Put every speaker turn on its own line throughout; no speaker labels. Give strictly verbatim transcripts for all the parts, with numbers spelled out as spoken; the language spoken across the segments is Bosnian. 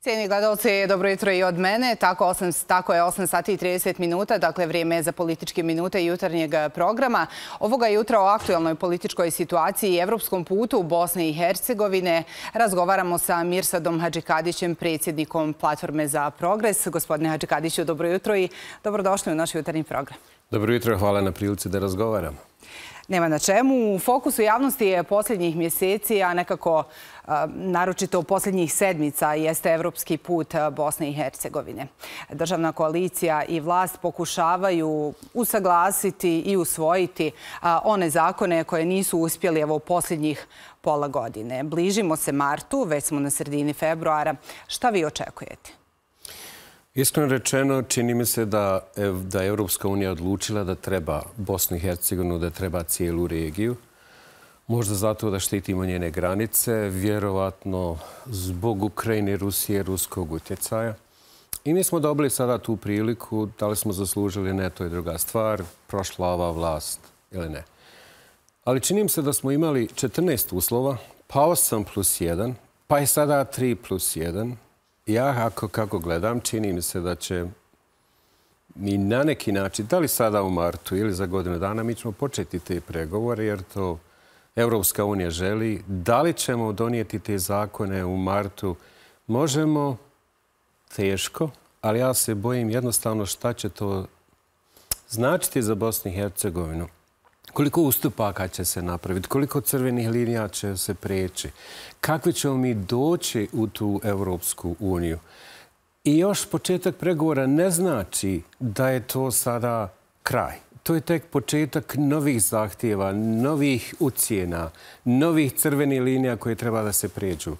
Cijeni gledalci, dobro jutro i od mene. Tako, tako je osam sati i trideset minuta, dakle vrijeme za političke minute jutarnjeg programa. Ovoga jutra o aktualnoj političkoj situaciji i evropskom putu u Bosne i Hercegovine razgovaramo sa Mirsadom Hadžikadićem, predsjednikom Platforme za progres. Gospodine Hadžikadiću, dobro jutro i dobrodošli u naš jutarnji program.
Dobro jutro, hvala na prilici da razgovaramo.
Nema na čemu. U fokusu javnosti je posljednjih mjeseci, a nekako naročito u posljednjih sedmica, jeste evropski put Bosne i Hercegovine. Državna koalicija i vlast pokušavaju usaglasiti i usvojiti one zakone koje nisu uspjeli evo u posljednjih pola godine. Bližimo se martu, već smo na sredini februara. Šta vi očekujete?
Iskreno rečeno, čini mi se da je Evropska unija odlučila da treba Bosnu i Hercegovinu, da treba cijelu regiju. Možda zato da štitimo njene granice, vjerovatno zbog Ukrajine, Rusije, ruskog utjecaja. I mi smo dobili sada tu priliku, da li smo zaslužili, ne, to je druga stvar, prošla ova vlast ili ne. Ali čini mi se da smo imali četrnaest uslova, pa osam plus jedan, pa je sada tri plus jedan. Ja, ako, kako gledam, čini mi se da će mi na neki način, da li sada u martu ili za godinu dana, mi ćemo početi te pregovore, jer to Evropska unija želi. Da li ćemo donijeti te zakone u martu? Možemo, teško, ali ja se bojim jednostavno šta će to značiti za Bosnu i Hercegovinu. Koliko ustupaka će se napraviti, koliko crvenih linija će se preći, kakvi ćemo mi doći u tu Evropsku uniju. I još početak pregovora ne znači da je to sada kraj. To je tek početak novih zahtjeva, novih ucjena, novih crvenih linija koje treba da se pređu.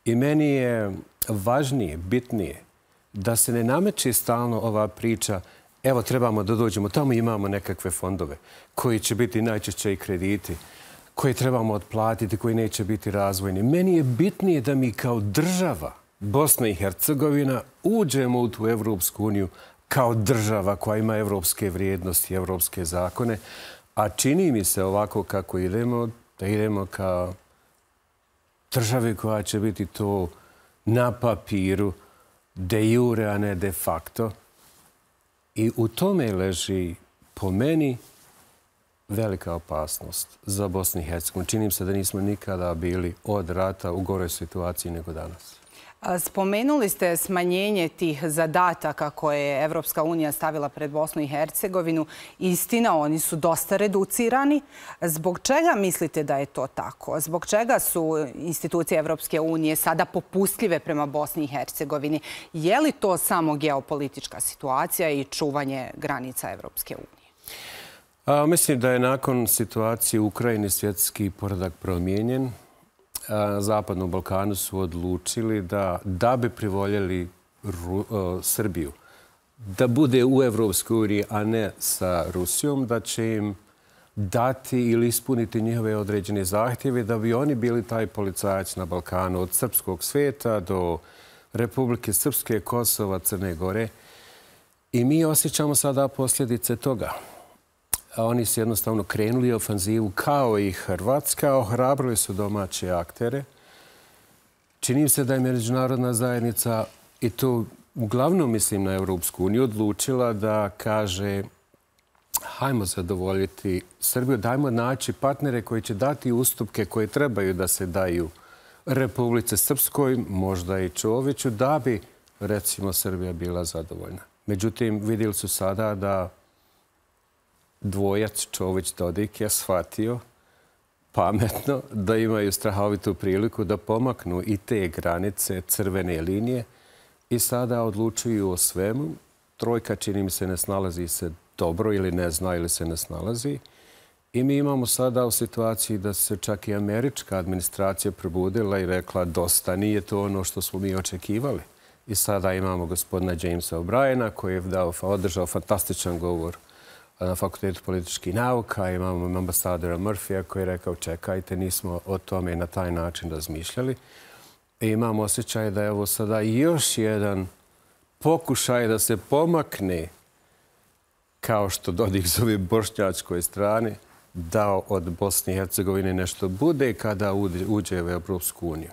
I meni je važnije, bitnije, da se ne nameće stalno ova priča evo, trebamo da dođemo, tamo imamo nekakve fondove koji će biti najčešće i krediti, koje trebamo otplatiti, koji neće biti razvojni. Meni je bitnije da mi kao država, Bosna i Hercegovina, uđemo u tu Evropsku uniju kao država koja ima evropske vrijednosti, evropske zakone, a čini mi se ovako kako idemo, da idemo kao državi koja će biti to na papiru, de jure, a ne de facto. I u tome leži, po meni, velika opasnost za Bosnu i Hercegovinu. Čini se da nismo nikada bili od rata u goroj situaciji nego danas.
Spomenuli ste smanjenje tih zadataka koje je Evropska unija stavila pred Bosnu i Hercegovinu. Istina, oni su dosta reducirani. Zbog čega mislite da je to tako? Zbog čega su institucije Evropske unije sada popustljive prema Bosni i Hercegovini? Je li to samo geopolitička situacija i čuvanje granica Evropske unije?
A, mislim da je nakon situacije u Ukrajini svjetski poredak promijenjen. Zapadnom Balkanu su odlučili da, da bi privoljeli Ru, uh, Srbiju da bude u Evropskoj uniji, a ne sa Rusijom, da će im dati ili ispuniti njihove određene zahtjeve da bi oni bili taj policajac na Balkanu od srpskog svijeta do Republike Srpske, Kosova, Crne Gore. I mi osjećamo sada posljedice toga. Oni su jednostavno krenuli ofanzivu kao i Hrvatska, ohrabrili su domaće aktere. Čini se da je međunarodna zajednica, i to uglavnom mislim na Evropsku uniju, odlučila da kaže hajmo zadovoljiti Srbiju, dajmo naći partnere koji će dati ustupke koje trebaju da se daju Republice Srpskoj, možda i Čoviću, da bi, recimo, Srbija bila zadovoljna. Međutim, vidjeli su sada da dvojac Čović-Dodik je shvatio pametno da imaju strahovitu priliku da pomaknu i te granice, crvene linije i sada odlučuju o svemu. Trojka, čini mi se, ne snalazi se dobro ili ne zna ili se ne snalazi. I mi imamo sada u situaciji da se čak i američka administracija probudila i rekla dosta, nije to ono što smo mi očekivali. I sada imamo gospodina Jamesa O'Briena koji je dao, održao fantastičan govor na Fakultetu političkih nauka. Imamo ambasadora Murphyja koji je rekao čekajte, nismo o tome na taj način razmišljali. I imamo osjećaj da je ovo sada još jedan pokušaj da se pomakne, kao što Dodik zove bošnjačkoj strani, da od Bosne i Hercegovine nešto bude kada uđe u Evropsku uniju.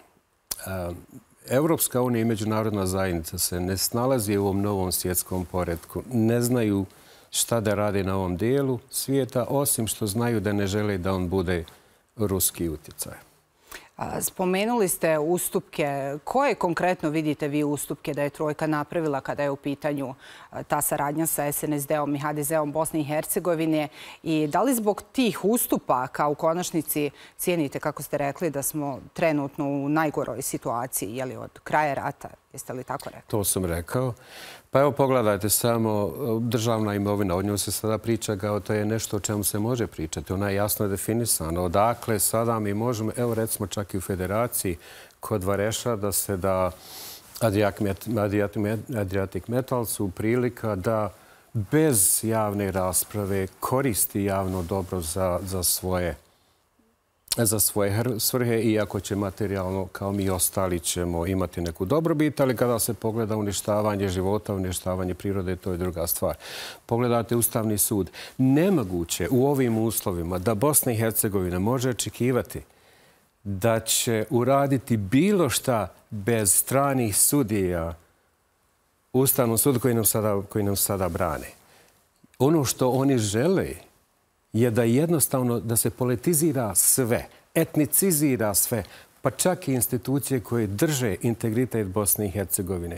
Evropska unija i međunarodna zajednica se ne snalazi u ovom novom svjetskom poretku. Ne znaju šta da rade na ovom dijelu svijeta, osim što znaju da ne žele da on bude ruski utjecaj.
Spomenuli ste ustupke. Koje konkretno vidite vi ustupke da je Trojka napravila kada je u pitanju ta saradnja sa S N S D-om i H D Z-om Bosne i Hercegovine? I da li zbog tih ustupaka u konačnici cijenite, kako ste rekli, da smo trenutno u najgoroj situaciji, je li od kraja rata? Jeste li tako rekli?
To sam rekao. Pa evo pogledajte samo državna imovina. O njoj se sada priča kao to je nešto o čemu se može pričati. Ona je jasno definisana. Odakle sada mi možemo, evo recimo čak i u Federaciji kod Vareša da se da Adriatic Metalsu prilika da bez javne rasprave koristi javno dobro za, za svoje za svoje svrhe, iako će materijalno, kao mi ostali, ćemo imati neku dobrobit, ali kada se pogleda uništavanje života, uništavanje prirode, to je druga stvar. Pogledajte Ustavni sud. Nemoguće u ovim uslovima da Bosna i Hercegovina može očekivati da će uraditi bilo šta bez stranih sudija Ustavnom sudu koji nam sada, koji nam sada brane. Ono što oni žele je da jednostavno da se politizira sve, etnicizira sve, pa čak i institucije koje drže integritet Bosne i Hercegovine.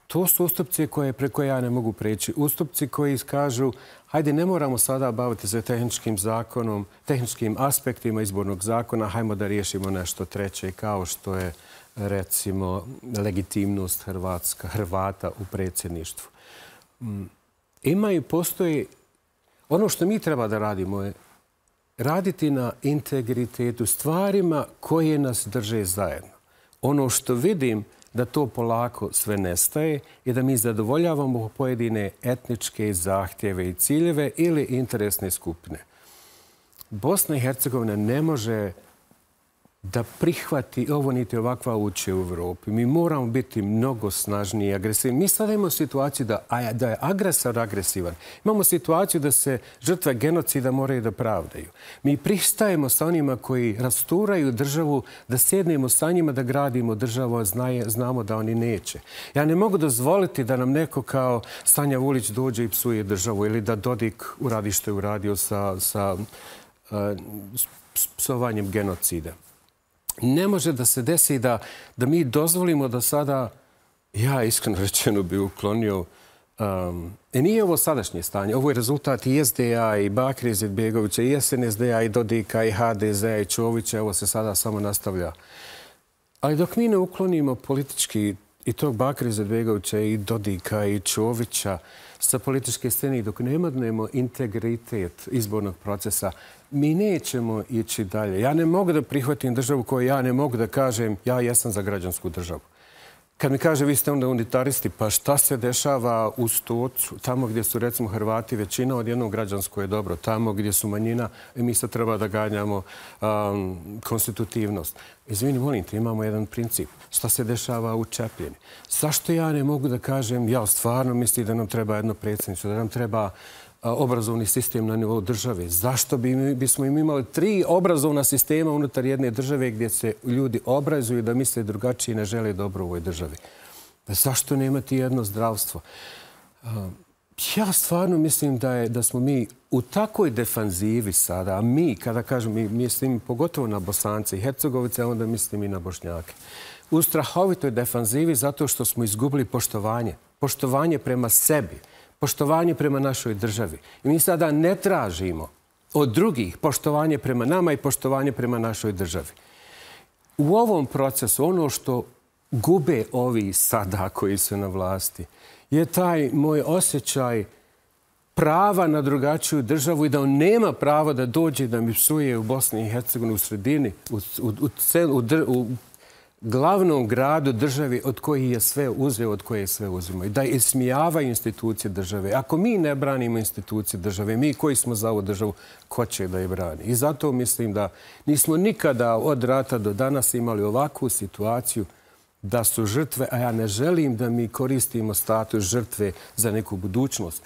To su ustupci koje, preko ja ne mogu preći. Ustupci koji kažu, hajde, ne moramo sada baviti se tehničkim zakonom, tehničkim aspektima izbornog zakona, hajmo da riješimo nešto treće, kao što je, recimo, legitimnost Hrvatska, Hrvata u predsjedništvu. Ima i postoji. Ono što mi treba da radimo je raditi na integritetu, stvarima koje nas drže zajedno. Ono što vidim da to polako sve nestaje i da mi zadovoljavamo pojedine etničke zahtjeve i ciljeve ili interesne skupine. Bosna i Hercegovina ne može da prihvati ovo niti ovakva uče u Evropi. Mi moramo biti mnogo snažniji i agresivni. Mi sada imamo situaciju da, da je agresor agresivan. Imamo situaciju da se žrtve genocida moraju da pravdaju. Mi pristajemo sa onima koji rasturaju državu, da sjednemo sa njima da gradimo državu, a znaje, znamo da oni neće. Ja ne mogu dozvoliti da nam neko kao Sanja Vulić dođe i psuje državu ili da Dodik uradi što je uradio sa, sa uh, psovanjem genocida. Ne može da se desi da, da mi dozvolimo da sada, ja iskreno rečeno bi uklonio, um, e nije ovo sadašnje stanje, ovo je rezultat i S D A, i Bakira Izetbegovića, i S N S D A, i Dodika, i H D Z, i Čovića, ovo se sada samo nastavlja. Ali dok mi ne uklonimo politički i tog Bakira Izetbegovića, i Dodika, i Čovića sa političke scene, dok ne imadnemo integritet izbornog procesa, mi nećemo ići dalje. Ja ne mogu da prihvatim državu koju ja ne mogu da kažem ja jesam za građansku državu. Kad mi kaže vi ste onda unitaristi, pa šta se dešava u Stocu, tamo gdje su recimo Hrvati većina, odjednom građansko je dobro. Tamo gdje su manjina, mi sad treba da ganjamo um, konstitutivnost. Izvini, molim te, imamo jedan princip. Šta se dešava u Čepljeni? Zašto ja ne mogu da kažem, ja stvarno mislim da nam treba jedno predsjedništvo, da nam treba obrazovni sistem na nivou države. Zašto bi, bismo im imali tri obrazovna sistema unutar jedne države gdje se ljudi obrazuju da misle drugačije i ne žele dobro u ovoj državi? Zašto ne imati jedno zdravstvo? Ja stvarno mislim da, je, da smo mi u takoj defanzivi sada, a mi, kada kažem, mi mislim pogotovo na Bosance i Hercegovice, onda mislim i na Bošnjake. U strahovitoj defanzivi zato što smo izgubili poštovanje. Poštovanje prema sebi. Poštovanje prema našoj državi. I mi sada ne tražimo od drugih poštovanje prema nama i poštovanje prema našoj državi. U ovom procesu ono što gube ovi sada koji su na vlasti je taj moj osjećaj prava na drugačiju državu i da on nema pravo da dođe da mi psuje u Bosni i Hercegovini u sredini, u, u, u, u, u glavnom gradu državi od kojih je sve uzeo, od koje je sve uzimo. I da ismijavaju institucije države. Ako mi ne branimo institucije države, mi koji smo za ovu državu, ko će da je brani? I zato mislim da nismo nikada od rata do danas imali ovakvu situaciju da su žrtve, a ja ne želim da mi koristimo status žrtve za neku budućnost.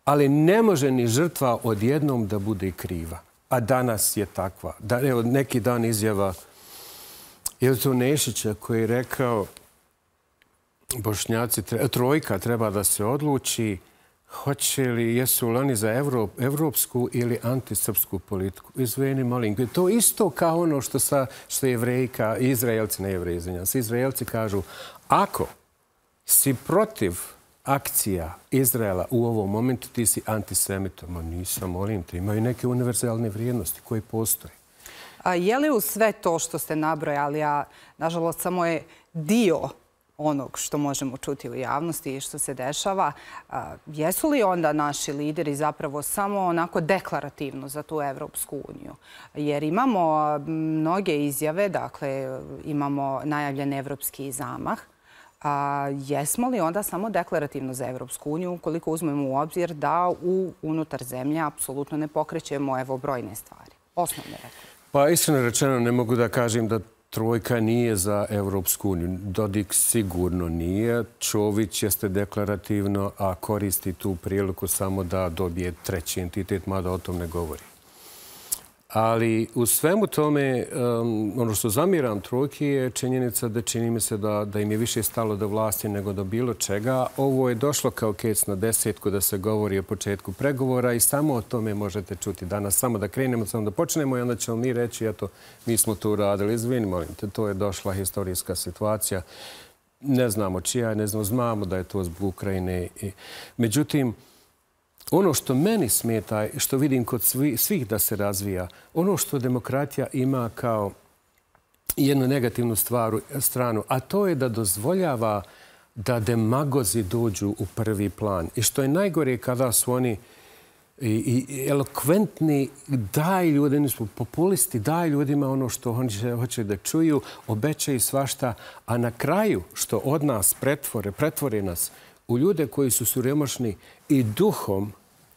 Ali ne može ni žrtva odjednom da bude kriva. A danas je takva. Da, evo, neki dan izjava Je li to Nešića koji je rekao Bošnjaci, trojka treba da se odluči hoće li, jesu li oni za evropsku ili antisrpsku politiku. Izvini, molim. To isto kao ono što, sa, što jevrejka, Izraelci, ne jevreji, izvinjam se, Izraelci kažu, ako si protiv akcija Izraela u ovom momentu, ti si antisemitom. Ma nisam, molim te, imaju neke univerzalne vrijednosti koje postoje.
A je li u sve to što ste nabrojali, a nažalost samo je dio onog što možemo čuti u javnosti i što se dešava, jesu li onda naši lideri zapravo samo onako deklarativno za tu Evropsku uniju? Jer imamo mnoge izjave, dakle imamo najavljen evropski zamah. A jesmo li onda samo deklarativno za Evropsku uniju ukoliko uzmemo u obzir da u unutar zemlje apsolutno ne pokrećemo evo brojne stvari? Osnovne rekao.
Pa iskreno rečeno ne mogu da kažem da trojka nije za Evropsku uniju. Dodik sigurno nije. Čović jeste deklarativno, a koristi tu priliku samo da dobije treći entitet, mada o tom ne govori. Ali u svemu tome, ono što zamiram trojki je činjenica da čini mi se da, da im je više stalo do vlasti nego do bilo čega. Ovo je došlo kao kec na desetku da se govori o početku pregovora i samo o tome možete čuti danas. Samo da krenemo, samo da počnemo i onda ćemo mi reći, eto, mi smo to uradili. Izvini, molim te, to je došla historijska situacija. Ne znamo čija, ne znamo, znamo da je to zbog Ukrajine. Međutim, ono što meni smeta, što vidim kod svih da se razvija, ono što demokratija ima kao jednu negativnu stvaru, stranu, a to je da dozvoljava da demagozi dođu u prvi plan. I što je najgore kada su oni i, i elokventni, daj ljudi, oni su populisti, daj ljudima ono što oni hoće da čuju, obećaju svašta, a na kraju što od nas pretvore, pretvore nas u ljude koji su siromašni i duhom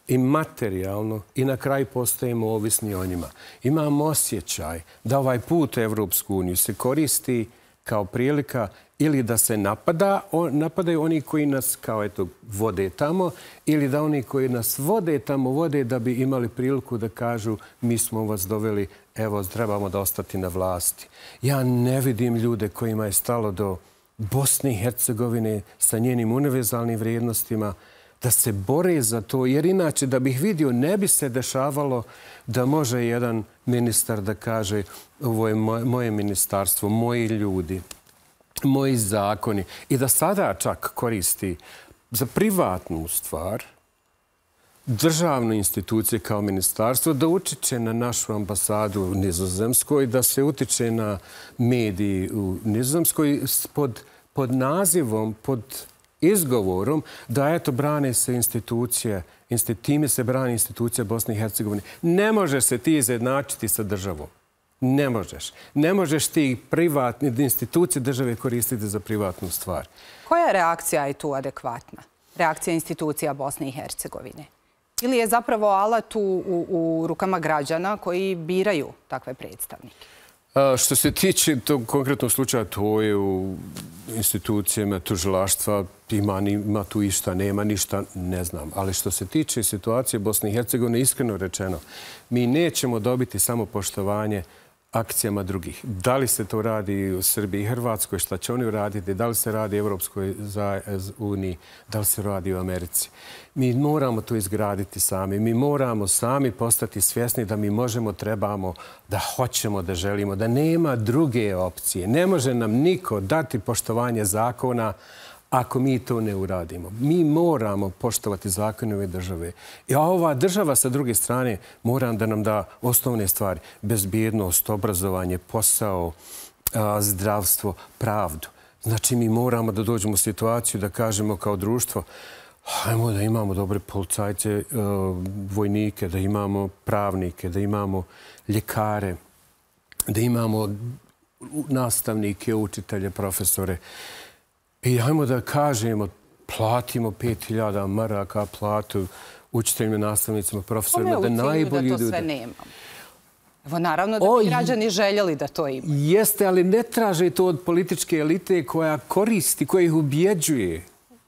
i materijalno i na kraju postajemo ovisni o njima. Imam osjećaj da ovaj put u Evropsku uniju se koristi kao prilika ili da se napada, napadaju oni koji nas kao eto vode tamo ili da oni koji nas vode tamo vode da bi imali priliku da kažu mi smo vas doveli, evo trebamo da ostati na vlasti. Ja ne vidim ljude kojima je stalo do Bosne i Hercegovine sa njenim univerzalnim vrijednostima, da se bore za to, jer inače da bih vidio ne bi se dešavalo da može jedan ministar da kaže ovo je moje ministarstvo, moji ljudi, moji zakoni i da sada čak koristi za privatnu stvar državnu instituciju kao ministarstvo da utiče na našu ambasadu u Nizozemskoj, da se utiče na mediji u Nizozemskoj pod, pod nazivom, pod izgovorom da eto brane se institucije, time se brani institucija Bosne i Hercegovine. Ne možeš se ti izjednačiti sa državom. Ne možeš. Ne možeš ti privatne institucije države koristiti za privatnu stvar.
Koja reakcija je tu adekvatna? Reakcija institucija Bosne i Hercegovine? Ili je zapravo alat u, u, u rukama građana koji biraju takve predstavnike?
A, što se tiče tog konkretnog slučaja, to je u institucijama tužilaštva, ima, ima tu išta, nema ništa, ne znam. Ali što se tiče situacije Bosne i Hercegovine, iskreno rečeno, mi nećemo dobiti samo poštovanje akcijama drugih. Da li se to radi u Srbiji i Hrvatskoj, šta će oni uraditi, da li se radi u Evropskoj uniji, da li se radi u Americi. Mi moramo to izgraditi sami. Mi moramo sami postati svjesni da mi možemo, trebamo, da hoćemo, da želimo, da nema druge opcije. Ne može nam niko dati poštovanje zakona ako mi to ne uradimo. Mi moramo poštovati zakone ove države. I ova država sa druge strane mora da nam da osnovne stvari. Bezbjednost, obrazovanje, posao, zdravstvo, pravdu. Znači mi moramo da dođemo u situaciju da kažemo kao društvo hajmo da imamo dobre policajce, vojnike, da imamo pravnike, da imamo ljekare, da imamo nastavnike, učitelje, profesore. I hajmo da kažemo, platimo pet hiljada maraka platu učiteljima, nastavnicima, profesorima, da najbolji ljudi...
da to sve nemamo? Evo, naravno da bi građani željeli da to imaju.
Jeste, ali ne traže to od političke elite koja koristi, koja ih ubjeđuje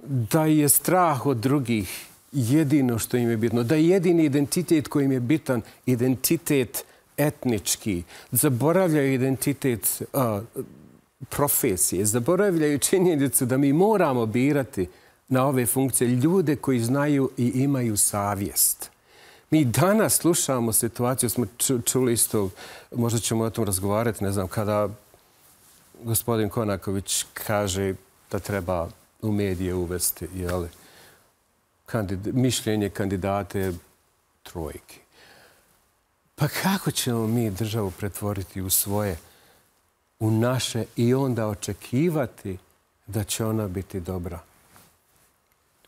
da je strah od drugih jedino što im je bitno. Da je jedini identitet koji im je bitan, identitet etnički. Zaboravljaju identitet profesije, zaboravljaju činjenicu da mi moramo birati na ove funkcije ljude koji znaju i imaju savjest. Mi danas slušamo situaciju, smo čuli isto, možda ćemo o tom razgovarati, ne znam, kada gospodin Konaković kaže da treba u medije uvesti jeli, kandid, mišljenje kandidate trojke. Pa kako ćemo mi državu pretvoriti u svoje, u naše i onda očekivati da će ona biti dobra?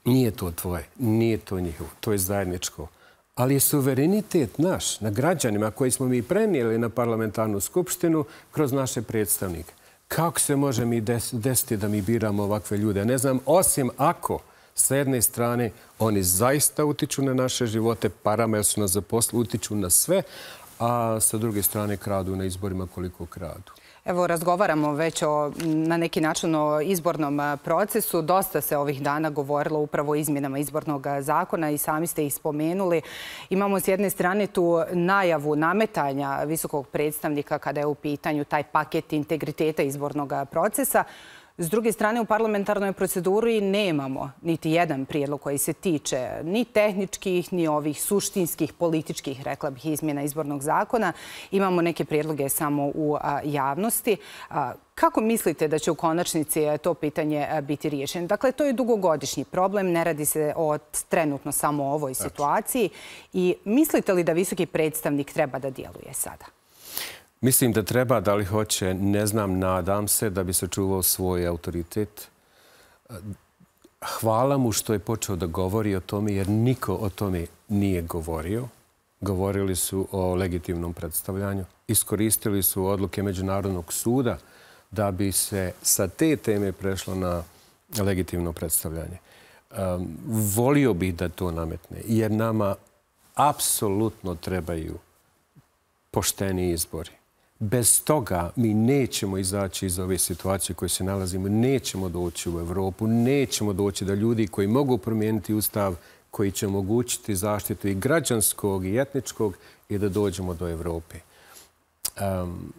Nije to tvoje, nije to njihovo, to je zajedničko. Ali je suverenitet naš, na građanima koji smo mi prenijeli na parlamentarnu skupštinu kroz naše predstavnike. Kako se može mi desiti da mi biramo ovakve ljude? Ne znam, osim ako s jedne strane oni zaista utiču na naše živote, parama jer su nas zaposlili, utiču na sve, a sa druge strane kradu na izborima koliko kradu.
Evo, razgovaramo već o, na neki način o izbornom procesu. Dosta se ovih dana govorilo upravo o izmjenama izbornog zakona i sami ste ih spomenuli. Imamo s jedne strane tu najavu nametanja visokog predstavnika kada je u pitanju taj paket integriteta izbornog procesa. S druge strane, u parlamentarnoj proceduri nemamo niti jedan prijedlog koji se tiče ni tehničkih, ni ovih suštinskih, političkih, rekla bih, izmjena izbornog zakona. Imamo neke prijedloge samo u javnosti. Kako mislite da će u konačnici to pitanje biti riješeno? Dakle, to je dugogodišnji problem, ne radi se o trenutno samo o ovoj situaciji. I mislite li da visoki predstavnik treba da djeluje sada?
Mislim da treba, da li hoće, ne znam, nadam se da bi se čuvao svoj autoritet. Hvala mu što je počeo da govori o tome, jer niko o tome nije govorio. Govorili su o legitimnom predstavljanju. Iskoristili su odluke Međunarodnog suda da bi se sa te teme prešlo na legitimno predstavljanje. Volio bih da to nametne, jer nama apsolutno trebaju pošteni izbori. Bez toga mi nećemo izaći iz ove situacije u kojoj se nalazimo, nećemo doći u Evropu, nećemo doći da ljudi koji mogu promijeniti ustav, koji će omogućiti zaštitu i građanskog i etničkog i da dođemo do Evrope. Um,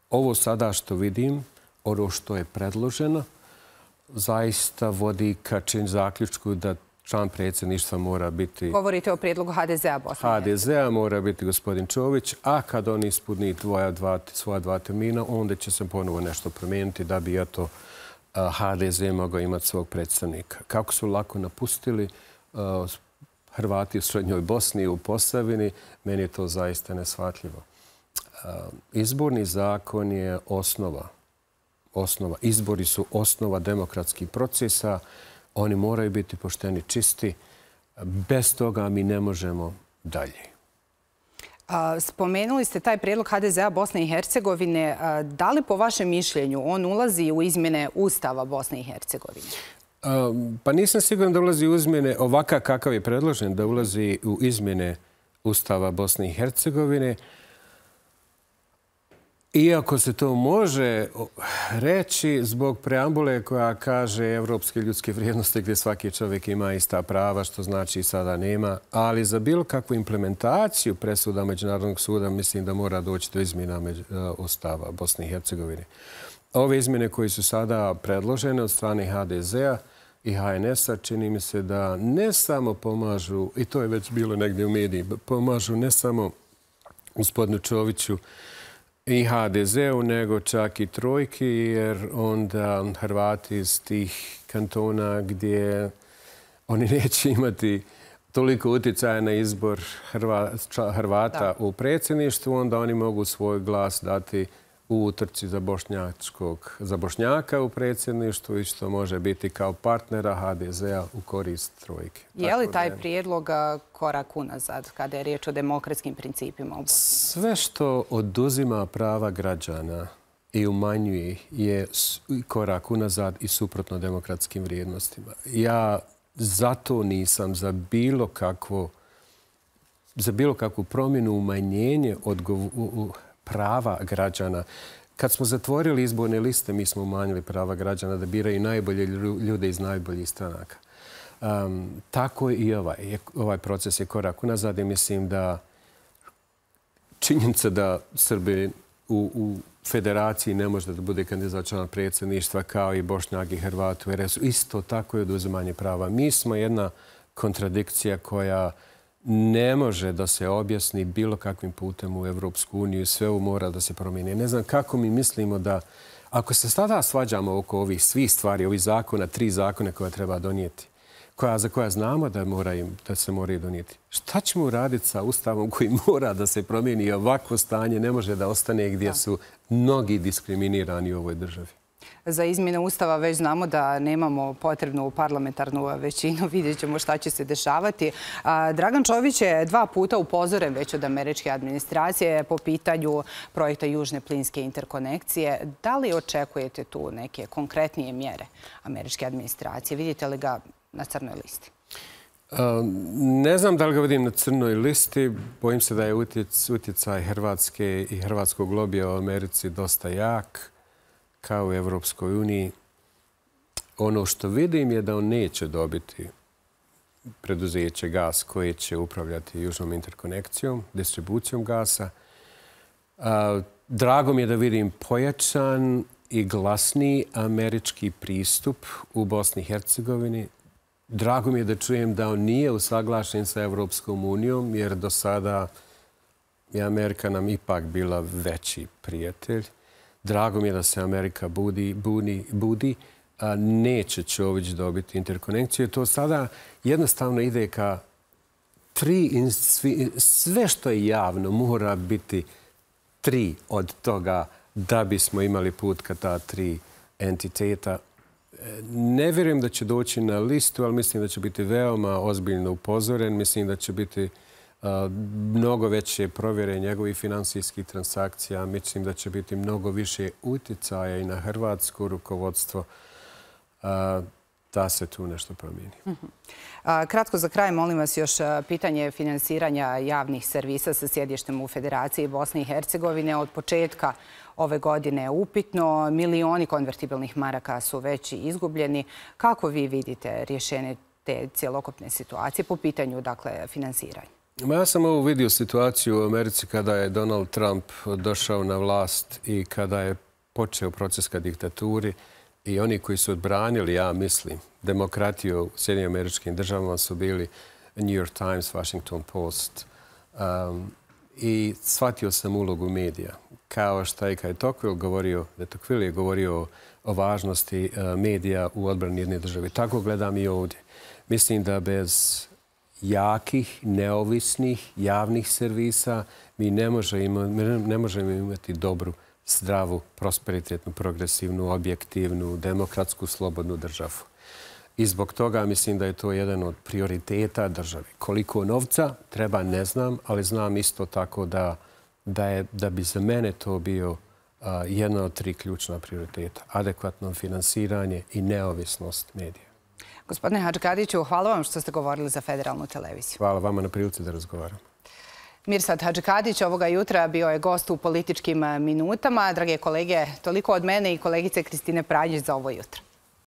ovo sada što vidim, ono što je predloženo, zaista vodi ka čin zaključku da član predsjedništva mora biti...
Govorite o prijedlogu ha de zea Bosne.
ha de zea mora biti gospodin Čović, a kad on ispuni svoja dva, svoja dva termina, onda će se ponovo nešto promijeniti da bi eto ha de ze mogao imati svog predstavnika. Kako su lako napustili uh, Hrvati u Srednjoj Bosni i u Posavini, meni je to zaista neshvatljivo. Uh, izborni zakon je osnova. osnova. Izbori su osnova demokratskih procesa. Oni moraju biti pošteni, čisti. Bez toga mi ne možemo dalje.
Spomenuli ste taj prijedlog ha de zea Bosne i Hercegovine. Da li po vašem mišljenju on ulazi u izmjene Ustava Bosne i Hercegovine?
Pa nisam siguran da ulazi u izmjene ovakav kakav je predložen, da ulazi u izmjene Ustava Bosne i Hercegovine. Iako se to može reći zbog preambule koja kaže evropske ljudske vrijednosti gdje svaki čovjek ima ista prava, što znači sada nema, ali za bilo kakvu implementaciju presuda Međunarodnog suda mislim da mora doći do izmjena Ustava Bosne i Hercegovine. Ove izmjene koje su sada predložene od strane ha de zea i ha en es-a čini mi se da ne samo pomažu, i to je već bilo negdje u mediji, pomažu ne samo gospodinu Čoviću i ha de zeu, nego čak i trojki, jer onda Hrvati iz tih kantona gdje oni neće imati toliko utjecaja na izbor Hrvata u predsjedništvu, onda oni mogu svoj glas dati u utrci za, za Bošnjaka u predsjedništvu i što može biti kao partnera ha de zea u korist trojke.
Je li taj prijedlog korak unazad kada je riječ o demokratskim principima u Bosni?
Sve što oduzima prava građana i umanjuje je korak unazad i suprotno demokratskim vrijednostima. Ja zato nisam za bilo kakvo, za bilo kakvu promjenu, umanjenje odgovornosti prava građana. Kad smo zatvorili izborne liste, mi smo umanjili prava građana da biraju najbolje ljude iz najboljih stranaka. Um, tako i ovaj, ovaj proces je korak unazad i mislim da činjenica da Srbi u, u federaciji ne može da bude kandidat za člana predsjedništva kao i Bošnjak i Hrvat u er es u. Isto tako je oduzimanje prava. Mi smo jedna kontradikcija koja ne može da se objasni bilo kakvim putem u Evropsku uniju. Sve ovo mora da se promijeni. Ne znam kako mi mislimo da, ako se sada svađamo oko ovih svih stvari, ovih zakona, tri zakone koje treba donijeti, koja, za koja znamo da, mora im, da se moraju donijeti. Šta ćemo uraditi sa Ustavom koji mora da se promijeni i ovakvo stanje ne može da ostane gdje su mnogi diskriminirani u ovoj državi?
Za izmjene Ustava već znamo da nemamo potrebnu parlamentarnu većinu. Vidjet ćemo šta će se dešavati. Dragan Čović je dva puta upozoren već od američke administracije po pitanju projekta Južne plinske interkonekcije. Da li očekujete tu neke konkretnije mjere američke administracije? Vidite li ga na crnoj listi?
Ne znam da li ga vidim na crnoj listi. Bojim se da je utjecaj Hrvatske i hrvatskog lobija u Americi dosta jak, kao u Evropskoj uniji. Ono što vidim je da on neće dobiti preduzeće gas koje će upravljati južnom interkonekcijom, distribucijom gasa. Drago mi je da vidim pojačan i glasniji američki pristup u Bosni i Hercegovini. Drago mi je da čujem da on nije usaglašen sa Evropskom unijom, jer do sada je Amerika nam ipak bila veći prijatelj. Drago mi je da se Amerika budi, budi, budi. A neće Čović dobiti interkonekciju. To sada jednostavno ide ka tri, sve što je javno mora biti tri od toga da bismo imali put ka ta tri entiteta. Ne vjerujem da će doći na listu, ali mislim da će biti veoma ozbiljno upozoren. Mislim da će biti mnogo veće provjere njegovih finansijskih transakcija. Mislim da će biti mnogo više utjecaja i na hrvatsko rukovodstvo da se tu nešto promijeni.
Kratko za kraj, molim vas još pitanje finansiranja javnih servisa sa sjedištem u Federaciji Bosne i Hercegovine. Od početka ove godine je upitno. Milioni konvertibilnih maraka su već izgubljeni. Kako vi vidite rješenje te cjelokupne situacije po pitanju dakle, finansiranja?
Ja sam ovu vidio situaciju u Americi kada je Donald Trump došao na vlast i kada je počeo proces ka diktaturi i oni koji su odbranili, ja mislim, demokratiju u Sjedinjenim Američkim Državama su bili New York Times, Washington Post. Um, I shvatio sam ulogu medija. Kao što je kad je Tocqueville govorio, da Tocqueville je govorio o važnosti uh, medija u odbrani jedne države. Tako gledam i ovdje. Mislim da bez jakih, neovisnih, javnih servisa mi ne možemo, ne možemo imati dobru, zdravu, prosperitetnu, progresivnu, objektivnu, demokratsku, slobodnu državu. I zbog toga mislim da je to jedan od prioriteta države. Koliko novca treba, ne znam, ali znam isto tako da, da, je, da bi za mene to bio uh, jedna od tri ključna prioriteta. Adekvatno finansiranje i neovisnost medija.
Gospodine Hadžikadiću, hvala vam što ste govorili za Federalnu televiziju.
Hvala vama na prilici da razgovaram.
Mirsad Hadžikadić ovoga jutra bio je gost u Političkim minutama. Drage kolege, toliko od mene i kolegice Kristine Pranjić za ovo jutro.